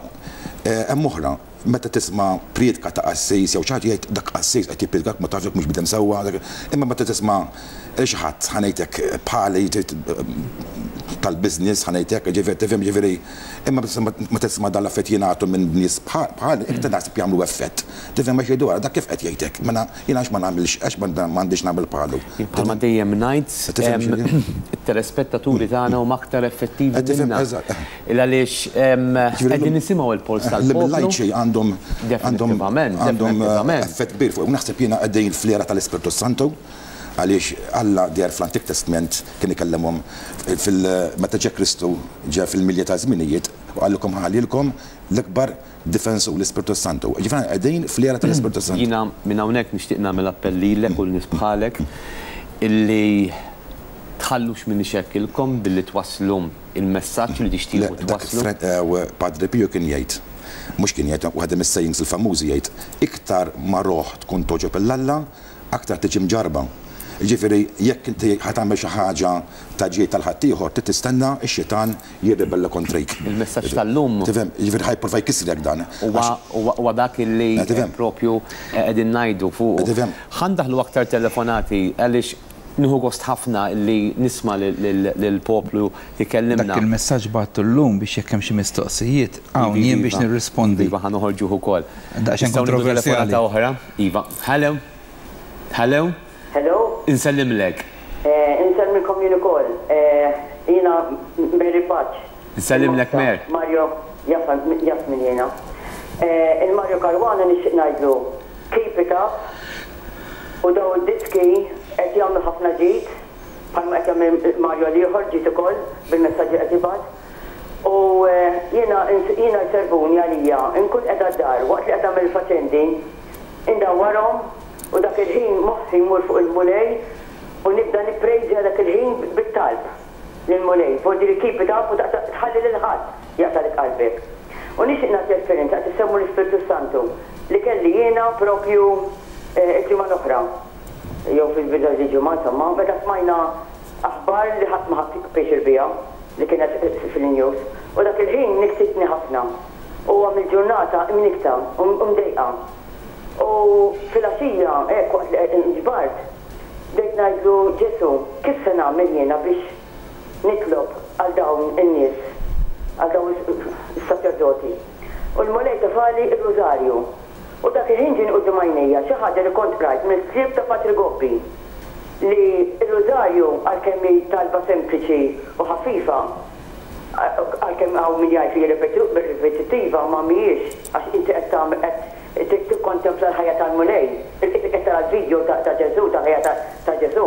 hemm oħra, meta tisma' priedka ta' qassis jew xi ħadd, jgħid, "Dak qassis qed jippriedkak, ma tafx, mhux bidem sewwa," imma meta tisma' xi ħadd, ħa ngħidlek, bħali tal-business, ħa ngħidlek, ġifieri tifhem, ġifieri, imma ma tisma' dan l-affett jingħatu minn nies bħal, iktar naħseb jagħmlu effett. Tifhem, ma jgħidu, "Dak kif qed jgħidlek, mela jiena għax ma nagħmilx, għax m'għandix nagħmel bħalu?" Bħalma dejjem ngħid, it-telespettaturi tagħna huma aktar effettivi minna. Il għaliex qegħdin nisimgħu il-polls tal-poplu. L-lajċi għandhom għandhom effett kbir fuq. Naħseb jiena qegħdin fl-era tal-Ispirtu Santu, għaliex Alla deher fl-Antik Testament kien ikellemhom fil meta ġe Kristu, ġe fil-milja ta' żminijiet u qalilkom, "Ħallilkom l-ikbar difensur, l-Ispirtu Santu." Ġifieri qegħdin fl-era tal-Ispirtu Santu. Jiena minn hawnhekk nixtieq nagħmel appell lilek u l-nies bħalek illi tħallux min ixekkilkom billi twasslu il-messaġġ li tixtiequ twasslu. Padre Pio kien jgħid, mhux kien jgħid, waħda mis-sayings il-famużi jgħid, "Iktar ma roħ tkun togħġob 'l Alla, aktar tiġi mġarba." Ġifieri, jekk inti ħa tagħmel xi ħaġa ta' ġid tal-ħaddieħor, trid tistenna x-xitan jirribella kontrik. Il-messaġġ tal-lum. Tifhem, ġifieri ħa jipprova jkissrek dan. Huwa dak illi propju qegħdin ngħidu fuq. Ħa ndaħħlu aktar telefonati għaliex nieħu gost ħafna li nisma' lill-poplu jkellimna. Dak il-messaġġ bgħattu llum biex jekk hemm xi mistoqsijiet hawn jien biex nirrispondi. Iva, ħa noħorġuh ukoll. Daqsxejn kontroversjali. Oħra. Iva. Hello. Hello. Hello. Insellimlek. Insellmilkom jien ukoll. Jiena Mary Paċ. Insellimlek, Mer. Mario jaf min jiena. Il-Mario Caruana nixtieq ngħidlu keep it up u daw id-diski qed jagħmlu ħafna ġid, bħalma qed jagħmel Mario l-ieħor ġid ukoll bil-messaġġi qed jibgħat. U jiena jiena jservuni għalija, nkun qiegħda d-dar waqt li qed nagħmel faċendi, indawwarhom u dak il-ħin moħħi jmur fuq il-Mulej u nibda nipprejżja dak il-ħin bit-talb lill-Mulej. Vuol keep it up u tħalli lil ħadd jaqtagħlek qalbek. U nixtieq nagħti esperjenza qed issemmu l-Ispirtu Santu li kelli jiena propju il-ġimgħa l-oħra. Jew fil-bidu ġimgħa, insomma, meta smajna aħbar li ħadd ma ħadd pjaċir biha li kienet fil-news. U dak il-ħin niktitni ħafna. U għamil ġurnata imnikta u mdejqa. U fil-għaxija, hekk waqt li nġbart, bdejt ngħidlu, "Ġesu, kif se nagħmel jiena biex nitlob għal dawn in-nies, għal dawn is-saċerdoti?" U l-Mulej tefagħli il-Rużarju. U dak il-ħin ġien quddiem għajnejja xi ħaġa li kont qrajt mill-ktieb ta' Patri Gobbi, li il-Rużarju, għalkemm hi talba sempliċi u ħafifa, għalkemm hawn min jgħid li ripetittiva, ma mhijiex, għax inti qed tagħmel, qed tikkontempla l-ħajja tal-Mulej, qed tara l-video ta' Ġesu, ta' ħajja ta' Ġesu.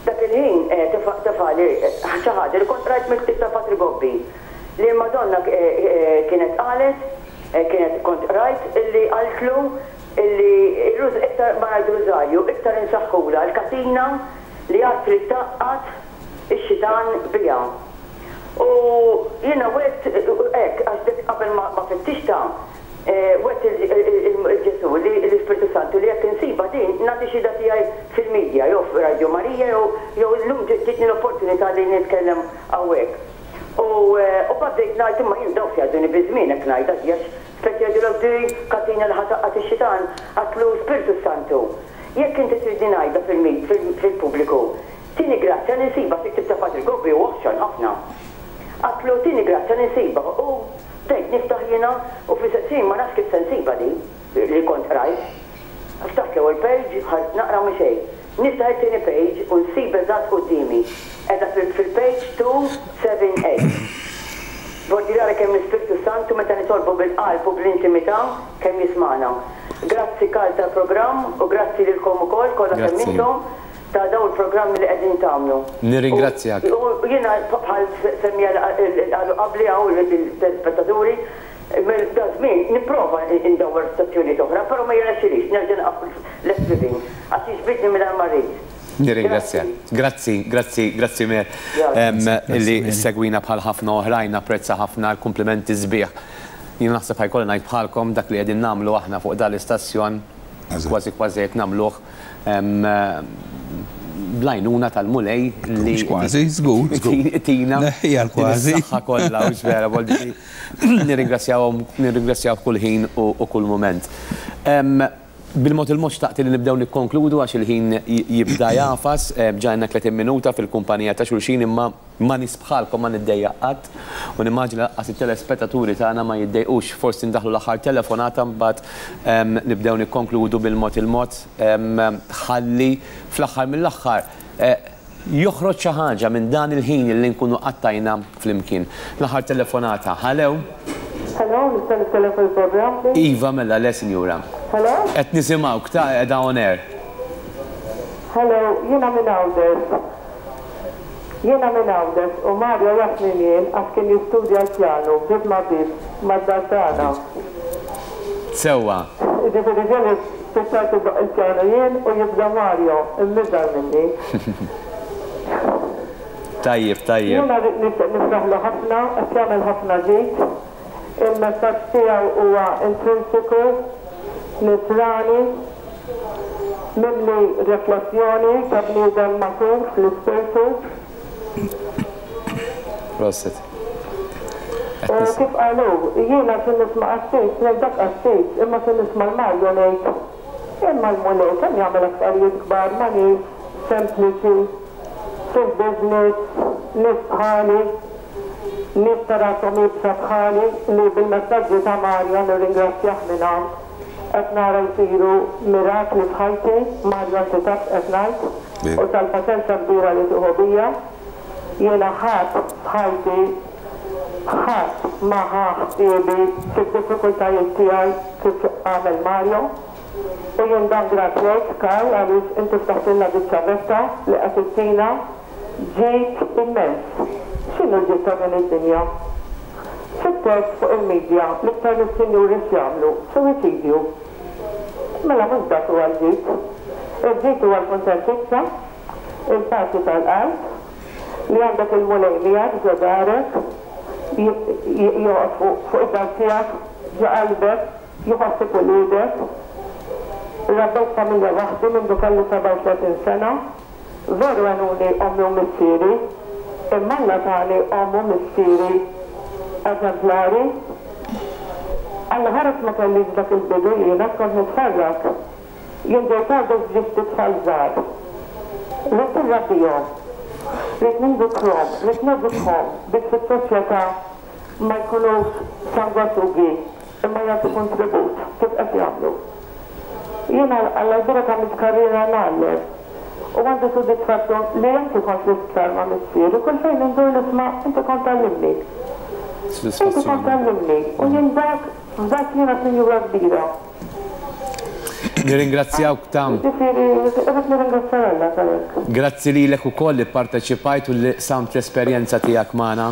Dak il-ħin tefagħli xi ħaġa li kont rajt mill-ktieb ta' Patri Gobbi. Li Madonna kienet qalet, kienet kont rajt, illi qaltlu illi iktar ma ngħid rużarju, iktar insaħħula l-katina li għad trid tgħaqqad ix-xitan biha. U jiena wet hekk għax dik qabel ma fittixta, wet il-Ġesu li l-Ispirtu Santu li jekk insiba din nagħti xhieda tiegħi fil-medja jew f'Radio Marija jew llum ġietni l-opportunità li nitkellem hawnhekk. U bdejt ngħid imma jien dawk jgħadduni biż-żmien hekk ngħid għax speċi jgħidulek di katina li ħataqqat ix-xitan għatlu Spirtu Santu. Jekk inti tridni ngħidha fil-pubbliku, tini grazzja li nsiba fi ktib ta' Patri Gobbi u oħxon ħafna. Għatlu tini grazzja li nsiba u bdejt niftaħ jiena u fl-istess ma nafx kif se nsiba di li kont rajt. Ftaħt l-ewwel page, ħadt naqra mhu xejn. Niftaħ it-tieni page u nsib eżatt quddiemi. Qiegħda fil-page two seven eight. Vordi rara kemm l-Ispirtu Santu meta nitolbu bil-qalb u bl-intimità kemm jismana. Grazzi Karl tal-programm u grazzi lilkom ukoll kollha kemm intom ta' dawn il-programmi li qegħdin tagħmlu. Nirringrazzjak. U jiena bħal semmija qalu qabli hawn il-telespettaturi, da żmien nipprova ndawwar stazzjonijiet oħra, però ma jirnexxilix, nerġa' naqaf left living għax jiġbidni mingħajr ma rrid. Nirringrazzjak. Grazzi, grazzi, grazzi Mer. Illi segwina bħal ħafna oħrajn, napprezza ħafna l-kumplimenti sbieħ. Jien naħseb ħajkolli ngħid bħalkom dak li qegħdin nagħmlu aħna fuq dan l-istazzjon, kważi kważi qed nagħmluh blajnuna tal-Mulej li kważi, żgur, tina Neħħija l-kważi. Saħħa kollha u vera, nirringrazzjawhom, nirringrazzjaw kull ħin u kull mument. Bil-mod il-mod xtaqt li nibdew nikkonkludu għax il-ħin jibda jafas, ġajna tletin minuta fil-kumpanija ta' xulxin imma ma nisbħalkom ma niddejjaq qatt u nimmaġina lanqas it-telespettaturi tagħna ma jiddejqux, forsi ndaħlu l-aħħar telefonata mbagħad nibdew nikkonkludu bil-mod il-mod ħalli fl-aħħar mill-aħħar joħroġ xi ħaġa minn dan il-ħin li nkunu qattajna flimkien. L-aħħar telefonata, ħalew? Hello, nista' nitkellem fil-programm? Iva, mela, le, sinjura. Hello? Qed nisimgħuk, ta' qiegħda on air. Hello, jiena minn Għawdex. Jiena minn Għawdex u Mario jaf min jien għax kien jistudja l-pjanu bib ma' bib mad-dar tagħna. Sewwa. Jiġifieri ġieli spiċċajt iddoqq il-pjanu jien u jibda Mario, immiżar minni. Tajjeb, tajjeb. Jiena nixtieq nifraħlu ħafna, qed jagħmel ħafna ġid. Il-messaġġ tiegħu huwa intrinsiku, nisrani, mimli riflessjoni ta' bniedem matur fl-ispirtu. Proset. U kif qalu, jiena xi nisma' qassis, ngħid dak qassis, imma xi nisma' l-Mario ngħid imma l-Mulej kemm jagħmel affarijiet kbar ma' nies sempliċi, fil-business, nies bħali, nies ta' rashom iebsa bħali li bil-messaġġi ta' Mario nirringrazzjah minn hawn. Qed nara jsiru mirakli f'ħajti, Mario inti taf qed ngħid, u tal-paċenza kbira li tieħu bija. Jiena ħadd f'ħajti, ħadd ma ħa ħsiebi fid-diffikultajiet tiegħi kif għamel Mario. U jien dan grat lejk, Karl, għaliex inti ftaħtilna biċ-ċavetta li qed ittina ġid immens. X'inhu l-ġid ta' din id-dinja? Fit-test fuq il-medja l-iktar li s-sinjuri x'jagħmlu? Suwiċidju. Mela mhux dak huwa l-ġid. Il-ġid huwa l-kuntentizza, il-paċi tal-qalb, li għandek il-Mulej miegħek ġo darek, joqgħod fuq id-dar tiegħek, ġo qalbek, jħossib uliedek. Rabbejt familja waħdi minn kelli sebgħa u tletin sena, veru għenuni ommi u missieri, imma Alla tani omm u missieri eżemplari. Alla ħares ma kellix dak il-bidu jiena kont nitfarrak. Jien ġejt għadek ġibt tfal żgħar. Ridt irrabbihom, ridt nindukhom, ridt nedukhom biex fis-soċjetà ma jkunux sangwasugi imma jagħtu kontribut kif qed jagħmlu. Jiena Alla jbierek għamilt karriera ngħallem u għandi sodisfazzjon li anki kont l-isptar ma' missieri kull fejn indur nisma' inti kont tgħallimni. Inti kont tgħallimni u jien dak f'dak jiena sinjura kbira. Nirringrazzjawk tam. Ġifieri, irrid nirringrazzja Alla tal-hekk. Grazzi lilek ukoll li pparteċipajt u li qsamt l-esperjenza tiegħek magħna.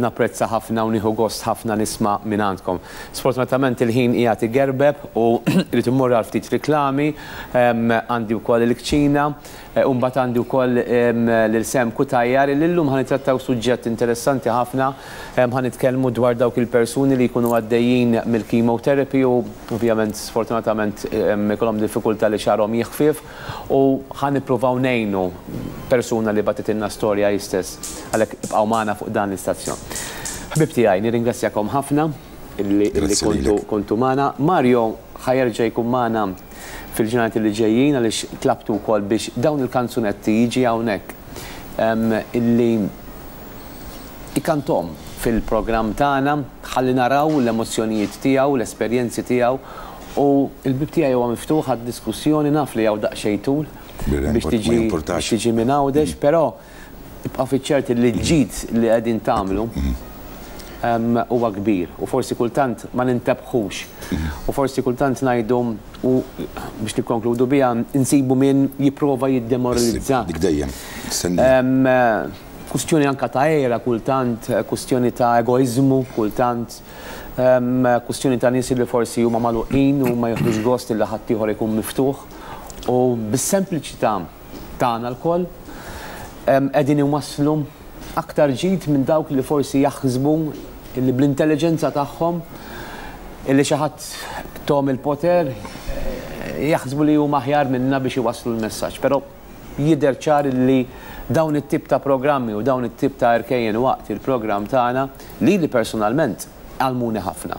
Napprezza ħafna u nieħu gost ħafna nisma' minn għandkom. Sfortunatament il-ħin qiegħed igerbeb u rrid immur għal ftit riklami, għandi wkoll il-kċina, u mbagħad għandi wkoll lil Sam Cutajar li llum ħa nittrattaw suġġett interessanti ħafna, ħa nitkellmu dwar dawk il-persuni li jkunu għaddejjin mill-chemotherapy u ovvjament sfortunatament ikollhom diffikultà li xagħarhom jiħfief u ħa nippruvaw ngħinu persuna li bagħtitilna storja hi stess. Għalhekk ibqgħu magħna fuq dan l-istazzjon. Ħbib tiegħi, nirringrazzjakom ħafna illi kontu kontu magħna. Mario ħa jerġa' jkun magħna fil-ġranet li ġejjin għaliex tlabtu wkoll biex dawn il-kanzunetti jiġi hawnhekk illi ikantom fil-programm tagħna ħalli naraw l-emozzjonijiet tiegħu, l-esperjenzi tiegħu u l-bib tiegħi huwa miftuħ għad-diskussjoni, naf li hawn daqsxejn tul biex tiġi biex tiġi minn Għawdex, però ibqa' fiċ-ċert li l-ġid li qegħdin tagħmlu huwa kbir u forsi kultant ma nintebħux u forsi kultant ngħidu u biex nikkonkludu biha insibu min jipprova jiddemoralizza. Dik dejjem. Kustjoni anka ta' era kultant, kustjoni ta' egoizmu kultant, kustjoni ta' nies li forsi huma magħluqin u ma jieħdux gost li ħaddieħor ikun miftuħ u bis-sempliċità tagħna lkoll qegħdin inwasslu aktar ġid minn dawk li forsi jaħsbu illi bl-intelligenza tagħhom illi xi ħadd tom il-poter jaħsbu li huma aħjar minna biex iwasslu l-messaġġ. Però jidher ċar li dawn it-tip ta' programmi u dawn it-tip ta' erkejjen waqt il-programm tagħna li li personalment għallmuni ħafna.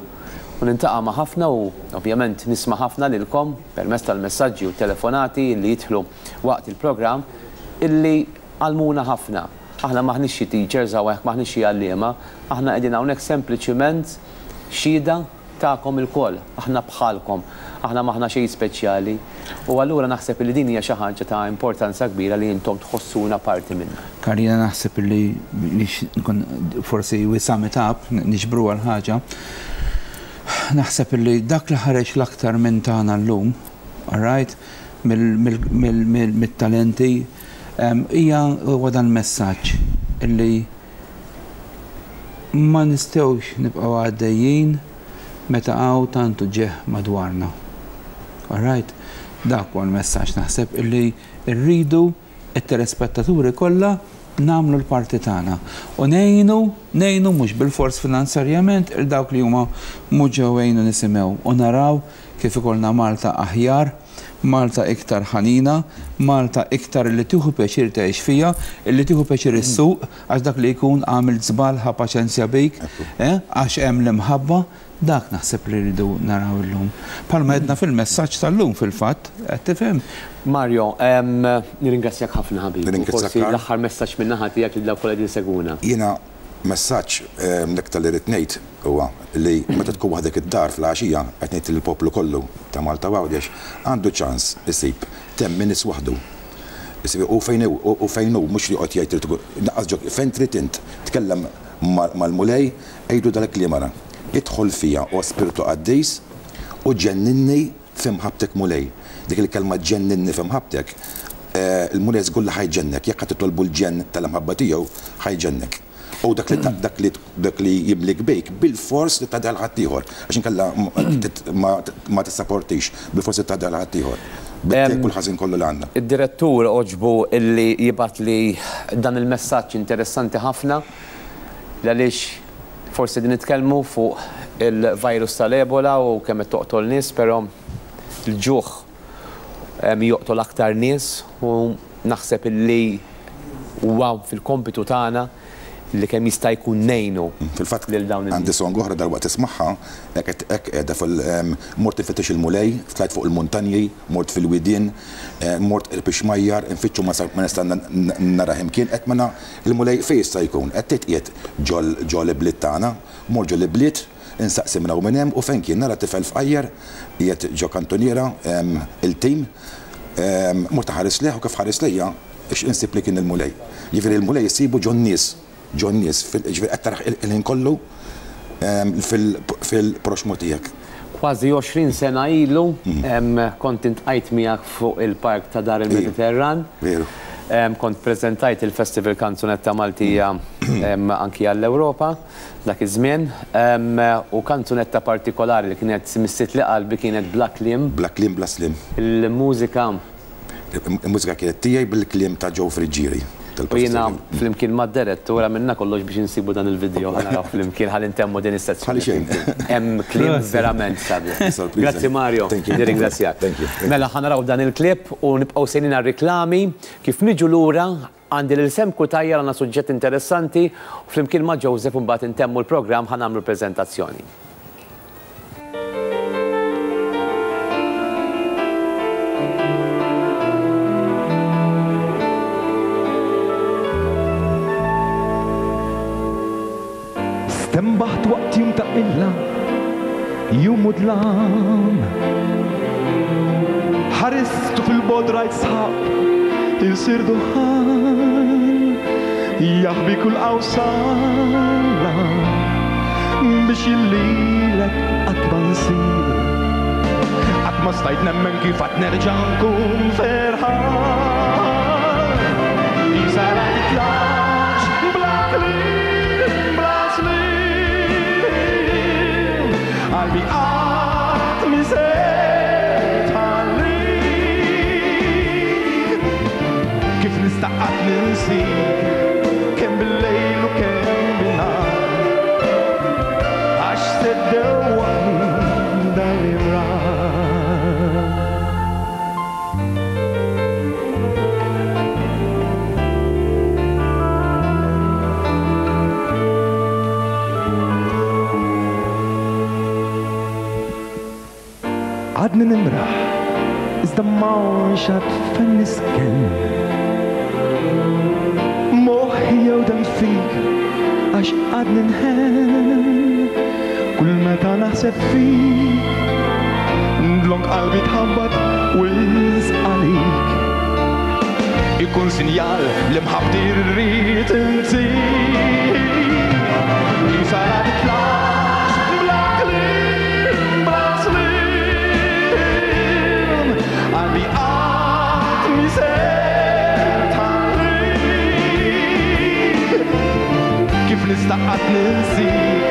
U nintaqa' ma' ħafna u ovvjament nisma' ħafna lilkom permezz tal-messaġġi u telefonati li jidħlu waqt il-programm illi għallmuna ħafna. Aħna maħniex xi teachers hawnhekk, maħniex xi għalliema, aħna qegħdin hawnhekk sempliċiment xhieda tagħkom ilkoll, aħna bħalkom, aħna maħna xejn speċjali. U allura naħseb li din hija xi ħaġa ta' importanza kbira li intom tħossuna parti minnha. Karina, naħseb li nkun forsi we sum it up, niġbru għal ħaġa. Naħseb li dak li ħareġ l-aktar minn tagħna llum, all right, mill-talenti, hija huwa dan messaġġ illi ma nistgħux nibqgħu għaddejjin meta hawn tantu ġeħ madwarna. All right? Dak huwa l-messaġġ naħseb illi rridu it-telespettaturi kollha nagħmlu l-parti tagħna. U ngħinu, ngħinu mhux bil-fors finanzjarjament il dawk li huma mhux ġewwejn u nisimgħu u naraw kif ikollna Malta aħjar, Malta iktar ħanina, Malta iktar li tieħu pjaċir tgħix fija, li tieħu pjaċir issuq, għax dak li jkun għamil żball ħa paċenzja bik, għax hemm l-imħabba, dak naħseb li rridu naraw illum. Palma għedna fil-messaġġ tal-lum fil-fatt, qed tifhem. Mario, nirringrazzjak ħafna ħabib. Forsi l-aħħar messaġġ minn naħa tiegħek li dawk kollha qegħdin segwuna. Jiena messaġġ l-iktar li rrid ngħid huwa li meta tkun waħdek id-dar fl-għaxija qed ngħid lill-poplu kollu ta' Malta u Għawdex għandu ċans isib ten minutes waħdu. U fejn u fejn hu mhux li joqgħod jgħid trid naqqas ġok fejn trid int tkellem mal-Mulej għidu dal-kliem ara. Idħol fija o Spiritu Qaddis u ġenninni f'imħabbtek Mulej. Dik il-kelma ġenninni f'imħabbtek, il-Mulej żgur li ħajġennek, jekk qed titolbu l-ġenn tal-imħabba tiegħu ħajġennek. U dak li dak li dak li jimlik bejk bil-fors li tagħdel ħaddieħor, għax inkella ma tissaportix, bil-fors li tagħdel ħaddieħor. Bit-tiegħek kull ħażin kollu li għandna. Id-direttur oġbu illi jibgħat li dan il-messaġġ interessanti ħafna għaliex forsi din nitkellmu fuq il-virus tal-Ebola u kemm qed toqtol nies, però l-ġuħ joqtol aktar nies u naħseb illi huwa fil-kompitu tagħna li kemm jista' jkun ngħinu. Fil-fatt lil dawn in-nies. Għandi song oħra dalwaqt tismagħha, hekk hekk qiegħda fil mort infittex il-Mulej, tlajt fuq il-muntanji, mort fil-widien, mort il-pixmajjar, infittxu ma nista' nara imkien, qed mena il-Mulej fejn jista' jkun, qed titqiet ġol ibliet tagħna, mort ġol ibliet, insaqsi minn hawn minn hemm u fejn kien nara tifel fqajjar qiegħed ġo kantuniera il-tim, mort ħares lejh u kif ħares lejja insib li kien il-Mulej. Jiġifieri il-Mulej jsibu ġon nies. Ġon nies, ġifieri qed taraħ il-ħin kollu fil-proxmu tiegħek. Kważi għoxrin sena ilu kont intqajt miegħek fuq il-park ta' Dar il-Mediterran. Veru. Kont preżentajt il-Festival Kanzunetta Maltija anki għall-Ewropa dak iż-żmien, u kanzunetta partikolari li kienet missit li qalbi kienet Bla Kliem. Bla Kliem, Bla Slim. Il-mużika. Il-mużika kienet tiegħi bil-kliem ta' Joe Friggieri. U jiena flimkien mad-direttura minna kollox biex insibu dan il-video ħa naraw flimkien ħalli ntemmu din is-sezzjoni. Ħalli xejn. Hemm kliem verament sabiħ. Sorpriża. Grazzi Mario, Thank you. nirringrazzjak. Thank you. Mela ħa naraw dan il-klip u nibqgħu sejrin għar-riklami. Kif niġu lura għandi lil Sam Cutajar, għandna suġġett interessanti u flimkien ma' Joseph mbagħad intemmu l-programm ħa nagħmlu preżentazzjoni. Stenbaħt waqt jum ta' qilla, jum u dlam. Ħaristu fil-bogħod rajt sħab insir duħan, jaħbi kull qawsala biex illilek qatt ma nsir. Qatt ma stajt nemmen kif qatt nerġa' nkun ferħan. Isa la titlax bla kliem, bla slim, qalbi qatt mi se tħallik. Kif nista' qatt ninsik, kemm bil-lejl u kemm bin-nhar, għax se ddewwaqni dan l-imrar. Għadni nimraħ, iżda m'hawnx għad fejn nisken. Moħħi jew dem fik, għax għadni nħenn. Kull meta naħseb fik, ndlonk qalbi tħabbat wisq għalik. Ikun sinjal li mħabbti rrid intik. Isa la titlax bla kliem, bla slim, qalbi qatt mi se tħallik. Kif nista' qatt ninsik,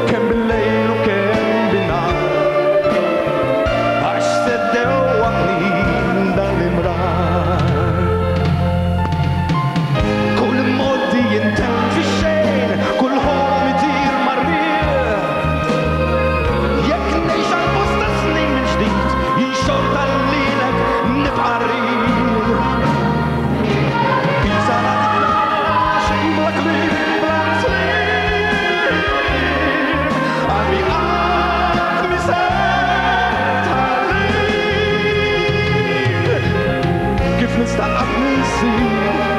kemm bil-lejl u kemm bin-nhar, għax se ddewwaqni dan l-imrar. Kull imgħoddi jintemm fix-xejn, kull ħolm itir mar-riħ. Jekk ngħix għal bosta snin minn ġdid, jien xorta lilek nibqa' rrid. Isa la titlax bla kliem, bla slim, qalbi qatt mi se tħallik. Kif nista' qatt ninsik,